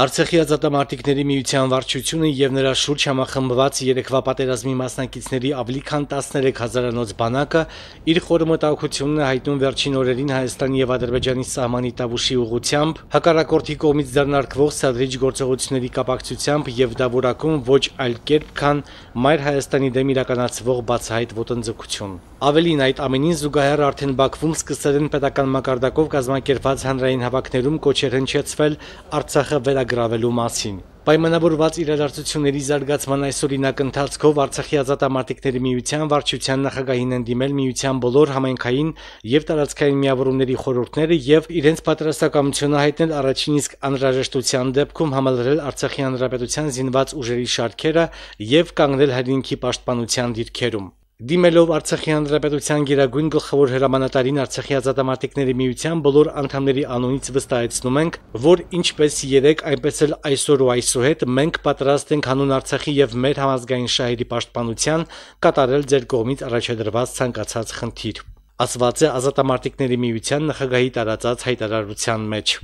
Արցախի ազատամարտիկների միության վարչությունը եւ նրա շուրջ համախմբված երեկվա պատերազմի մասնակիցների ավելի քան 13,000-անոց բանակը իր խորմտահոգությունն է հայտնում վերջին օրերին Հայաստանի եւ Ադրբեջանի սահմանի Տավուշի ուղղությամբ հակառակորդի կողմից ձեռնարկվող սադրիչ գործողությունների կապակցությամբ եւ դա որակում ոչ այլ կերպ, քան Մայր Հայաստանի դեմ իրականացվող բացահայտ ոտնձգություն։ Ավելին, այդ ամենին զուգահեռ արդեն Բաքվում սկսել են պետական մակարդակով կազմակերպված հանրային հավաքներում կոչեր հնչեցվել Արցախը վերագրավելու մասին։ Պայմանավորված իրադարձությունների զարգացման այսօրինակ ընթացքով Արցախի ազատամարտիկների միության վարչության նախագահին են դիմել միության բոլոր համայնքային եւ տարածքային միավորումների խորհուրդները եւ իրենց պատրաստակամությունը հայտնել առաջին իսկ անհրաժեշտության դեպքում համալրել Արցախի հանրապետության զինված ուժերի շարքերը եւ կանգնել հայրենիքի պաշտպանության դիրքերում։ Դիմելով Արցախի հանրապետության գերագույն գլխավոր հրամանատարին Արցախի ազատամարտիկների միության բոլոր անդամների անունից վստահեցնում ենք, որ ինչպես երեք, այնպես էլ այսօր ու այսուհետ մենք պատրաստ ենք հանուն Արցախի եւ մեր համազգային շահերի պաշտպանության կատարել ձեր կողմից առաջադրված ցանկացած խնդիր, ասված է ազատամարտիկների միության նախագահի տարածած հայտարարության մեջ։